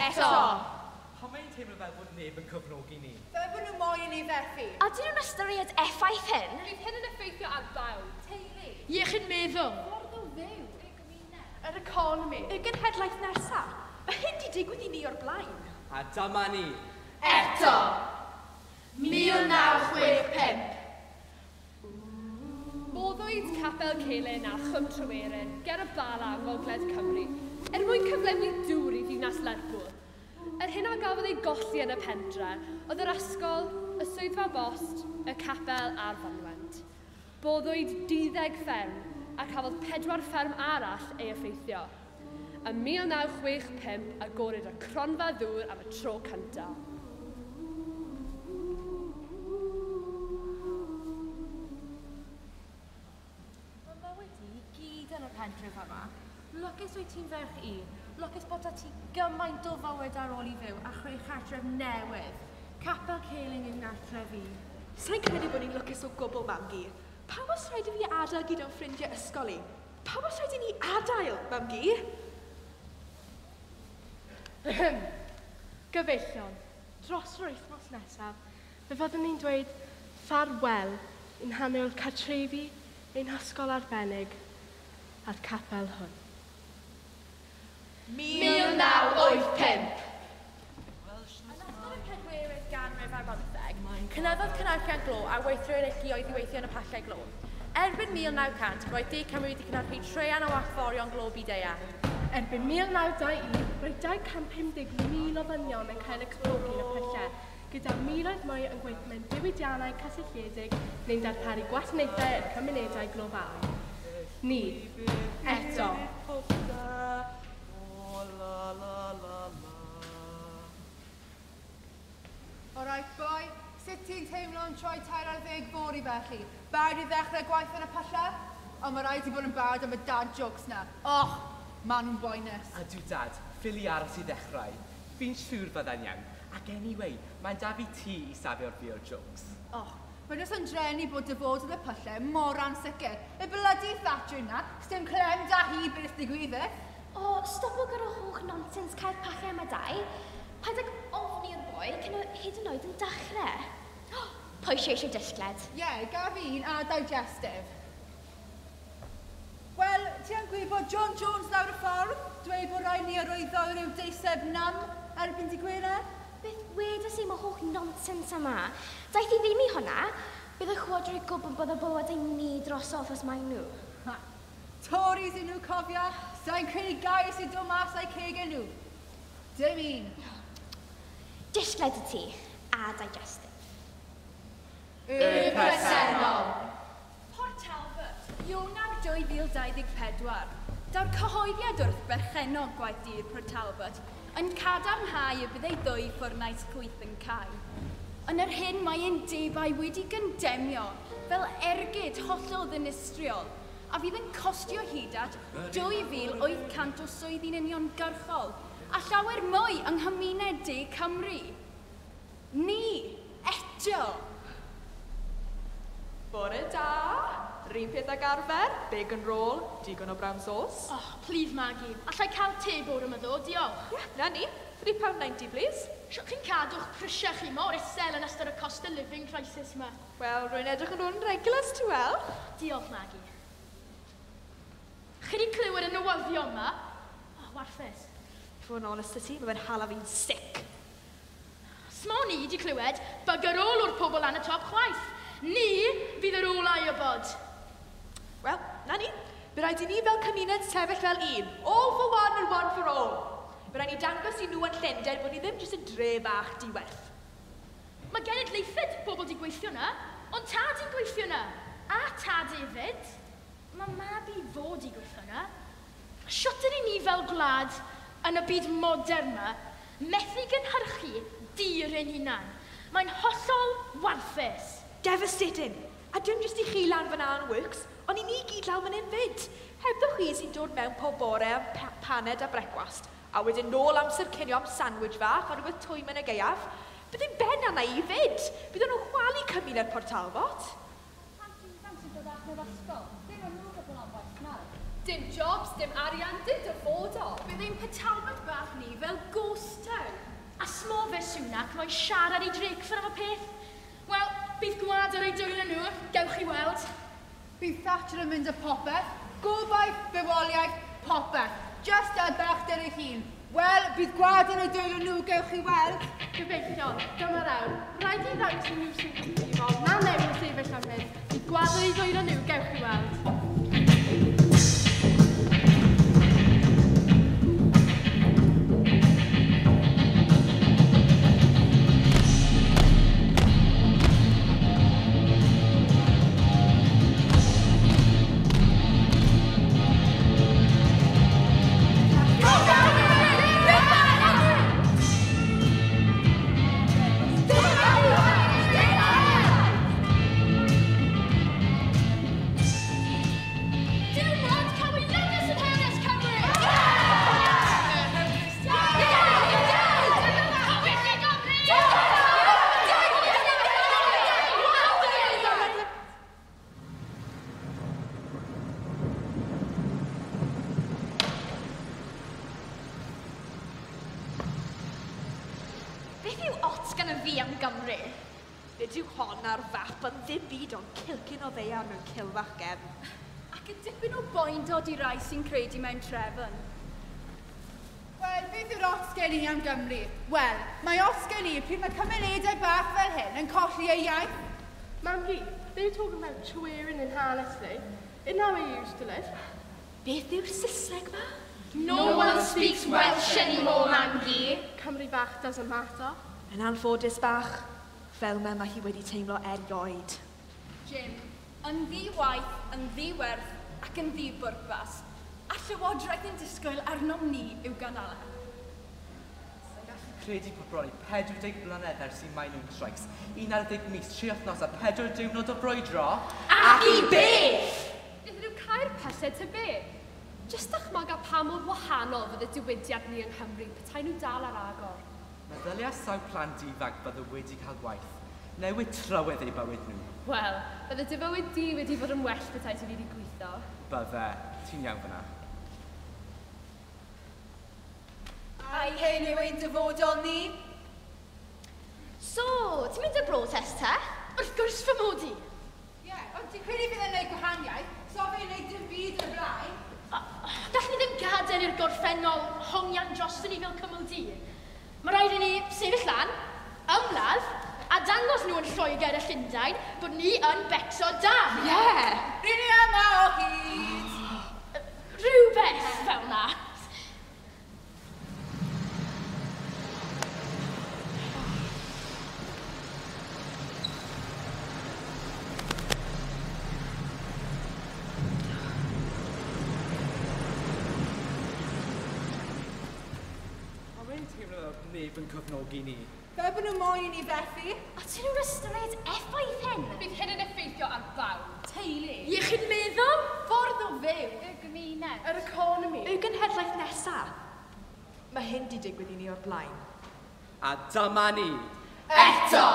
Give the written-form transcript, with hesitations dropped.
Eto! Pam mae'n teimlo fel bod neb yn cefnogi ni? Fel bod nhw moyn i ni fethu. A dyn nhw'n ystyried effaith hyn? Bydd hyn yn effeithio ar bawb. Teulu. Iechyd meddwl. Ffordd o fyw. Y gymuned. Yr economi. Y genhedlaeth nesaf. Mae hyn di digwydd i ni o'r blaen. A dyma ni. Eto! 1965. Boddwyd Capel Celyn a Chwm Tryweryn ger y Bala yng Ngogledd Cymru er mwyn cyflenwi dŵr i ddinas Lerpwl. Yr hyn a gafodd ei golli yn y pentre oedd yr ysgol, y swyddfa bost, y capel a'r fynwent. Boddwyd 12 fferm a cafodd 4 fferm arall ei effeithio. Ym 1965 agorwyd y cronfa ddŵr am y tro cyntaf. Mae mywyd i gyd yn y pentref yma. Lwcus wyt ti'n ferch i. Lwcus bod â ti gymaint o fywyd ar ôl i fyw a chreu chartref newydd. Capel Celyn yw nghartref i. Sa'n credu bod ni'n lwcus o gwbl, Mamgu. Pam os rhaid i fi adael gyda'n ffrindiau ysgol i? Pam os rhaid i ni adael, Mamgu? Gyfeillion, dros yr wythnos nesaf, fe fyddwn ni'n dweud ffarwel i'n hanol cartrefi, ein hysgol arbennig a'r capel hwn. 1985. Yn ystod y pedwerydd ganrif ar bymtheg, cynyddodd cynhyrchiant glo a weithreduoedd i weithio yn y pyllau glo. Erbyn 1900, roedd De Cymru wedi cynhyrchu traean o allforion glo byd-eang. Erbyn 1921, roedd 250,000 o ddynion yn cael eu cyflogi yn y pyllau, gyda miloedd mwy yn gweithio mewn diwydiannau cysylltiedig neu'n darparu gwasanaethau i'r cymunedau glofaol. Ni, eto. All right, boi, sut ti'n teimlo yn troi 13 fory felly? Barod i ddechrau gwaith yn y pyllau? Ond mae rhaid i bod yn barod am y dad jokes na. Och, maen nhw'n boenus. A dw dad, ffili aros i ddechrau. Fi'n siŵr fydda'n iawn. Ac anyway, mae'n da fi ti i safio'r fi o'r jokes. Och, mae jyst yn drueni bod dyfodol y pyllau mor ansicr. Y blydi Thatcher na, sdim clem da hi beth digwyddith. O, stopo gyda holl nonsens cael pyllau yma dau. Paid ag ofni'r boi cyn o hyd yn oed yn dechrau. Pwy eisiau eisiau disgled? Ie, yeah, gaf un a digestive. Wel, ti yn gwybod John Jones lawr y ffordd? Dweud bod rhaid ni arwyddo rhyw deiseb nam erbyn di Gwener? Beth wedes i mae holl nonsens yma? Daeth i ddim i hwnna. Bydd y chwodrwy gwybod bod y bywydau ni drosodd os mae nhw. Ha. Tories i nhw cofio, sa'n credu gair sy'n dod mas o'i cegau nhw. Dim un. Disgled i ti, a digestive. Y presennol. Port Talbot, Ionawr 2024. Daw'r cyhoeddiad wrth berchennog gwaith dur Port Talbot yn cadarnhau y bydd ei ddwy ffwrnais chwyth yn cau. Yn yr hyn mae undebau wedi gyndemio fel ergyd hollol ddinistriol a fydd yn costio hyd at 2,800 o swyddi'n uniongyrchol a llawer mwy yng nghymuned De Cymru. Ni, eto! Bore da! Run peth ag arfer, bacon roll, digon o brown sauce. Oh, please Maggie, allai cael te bore yma ddo, diolch. Ie, yeah, na ni. £3.90, please. Siwt chi'n cadw'ch prisiau chi mor isel yn ystod y cost of living crisis yma? Wel, rwy'n edrych yn rhywun regulars, ti wel. Diolch, Maggie. Chi wedi clywed y newyddion yma? Oh, warthus. I fod yn honest â ti, mae fe'n hala fi'n sick. Smo ni wedi clywed bugger all o'r pobl lan y top chwaith. Ni fydd yr olau o bod. Wel, na ni. Bydd rhaid i ni fel cymuned sefyll fel un. All for one and one for all. Bydd rhaid ni dangos i nhw yn Llundain bod ni ddim jyst yn dre bach diwerth. Mae genedlaethau bobl di gweithio na, ond tad i'n gweithio na. A tad hefyd. Mae mab i fod i gweithio na. Siwt ydyn ni fel gwlad yn y byd modern yma, methu gynhyrchu dir ein hunan. Mae'n hollol warthus. Devastating. A dim jyst i chi lan fan yn works, ond i ni gyd lawr fan hyn fyd. Hebddo chi sy'n dod mewn pob bore am paned a brecwast, a wedyn nôl amser cinio am sandwich fach a rhywbeth twym yn y gaeaf, bydd yn ben arna i fyd. Bydden nhw'n chwalu cymuned Port Talbot. Plant ifanc sy'n dod allan o'r ysgol, dim ond nhw'n gwybod am waith nawr. Dim jobs, dim arian, dim dyfodol. Bydd ein Port Talbot bach ni fel ghost town. A smo fe Sunak moyn siarad i Drakeford am y peth. Wel, bydd gwlad ar ei dwylo nhw, gewch chi weld. Bydd Thatcher yn mynd â popeth, gobaith, bywoliaeth, popeth. Just ar bechder ei hun. Wel, bydd gwlad yn ei dwylo nhw, gewch chi weld. Gobeithio, dyma'r awr. Rhaid i ddangos i nhw sy'n cyfrifol na newid sefyll am hyn. Bydd gwlad yn ei dwylo nhw, gewch chi weld. Beth yw ots gan y fi am Gymru? Nid yw hon ar fap yn ddim byd ond cilcyn o ddaear mewn cilfach gefn. Ac y dipyn o boendod i rai sy'n credu mewn trefn. Wel, beth yw'r ots gen i am Gymru? Wel, mae ots gen i pryd mae cymunedau bach fel hyn yn colli eu iaith. Mam-gu, they were talking about Tryweryn in Llanelli. Isn't that where you used to live? Beth yw'r Saesneg ma? No one speaks Welsh anymore, Mam-gu. Cymru bach doesn't matter. Yn anffodus bach, fel mae hi wedi teimlo erioed. Jim, yn ddi-waith, yn ddi-werth ac yn ddi-bwrpas, a Llywodraeth yn disgwyl arnom ni i'w ganala. Sa'n gallu credu bod bron i 40 blynedd ers i Mining Strikes, 11 mis, 3 wythnos a 4 diwrnod o brwydro. Ac i beth! Nethon nhw cau'r pyllau ta be? Jyst dychmyga pa mor wahanol fydd y diwydiant ni yng Nghymru petai nhw dal ar agor. Meddylia sawl plant ifanc bydde wedi cael gwaith. Newid trywydd eu bywyd nhw. Wel, bydde dy fywyd di wedi fod yn well petai ti wedi gweithio. Bydde. Ti'n iawn fyna. Ai hyn yw ein dyfodol ni? So, ti'n mynd i'r brotest te? Wrth gwrs fy mod i. Ie, ond ti'n credu fydd e'n gwneud gwahaniaeth? So fe'n gwneud dim byd yn y blaen? Gallwn ni ddim gadael i'r gorffennol hongian drosto ni fel cymyl du. Mae rhaid i ni sefyll lan, ymladd, a dangos nhw yn Lloegr a Llundain bod ni yn becso da. Ie! Yeah. Rydyn ni yma o hyd! Rhywbeth fel na. Neb yn cyfnogi ni. Fel bod nhw moyn i ni fethu. A ti'n nhw'n ystyried effaith hyn? Bydd hyn yn effeithio ar bawb. Teulu. Iechyd meddwl? Ffordd o fyw. Y gymuned. Yr economi. Y genhedlaeth nesaf. Mae hyn di digwydd i ni o'r blaen. A dyma ni. Eto!